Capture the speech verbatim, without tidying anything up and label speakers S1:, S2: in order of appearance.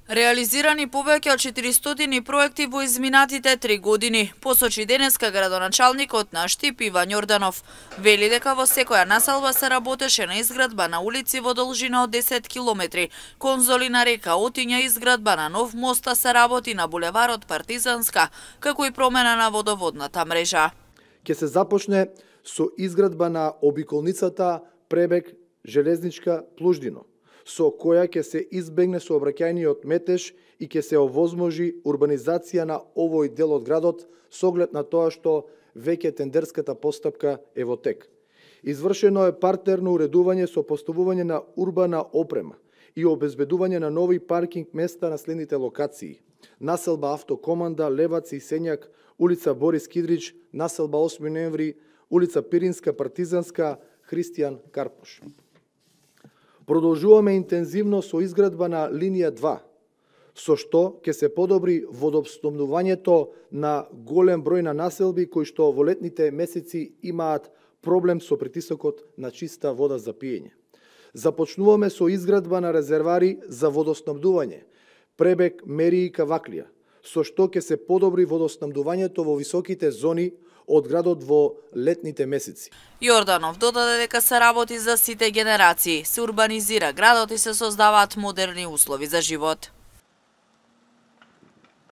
S1: Реализирани повеќе од четиристотини проекти во изминатите три години, посочи денеска градоначалникот на Штип Иван Јорданов. Вели дека во секоја населба се работеше на изградба на улици во должина од десет километри, конзоли на река Отиња, изградба на нов мост, а се работи на булеварот Партизанска, како и промена на водоводната мрежа.
S2: Ќе се започне со изградба на обиколницата Пребег железничка Плуждино, со која ќе се избегне сообраќајниот метеж и ќе се овозможи урбанизација на овој дел од градот со оглед на тоа што веќе тендерската постапка е во тек. Извршено е партерно уредување со поставување на урбана опрема и обезбедување на нови паркинг места на следните локации: населба Автокоманда, Левац и Сењак, улица Борис Кидрич, населба осми ноември, улица Пиринска, Партизанска, Христијан Карпош. Продолжуваме интензивно со изградба на линија два, со што ќе се подобри водоснабдувањето на голем број на населби кои што во летните месеци имаат проблем со притисокот на чиста вода за пиење. Започнуваме со изградба на резервари за водоснабдување Пребег, Мери и Каваклија, со што ќе се подобри водоснабдувањето во високите зони од градот во летните месеци.
S1: Јорданов додаде дека се работи за сите генерации, се урбанизира градот и се создаваат модерни услови за живот.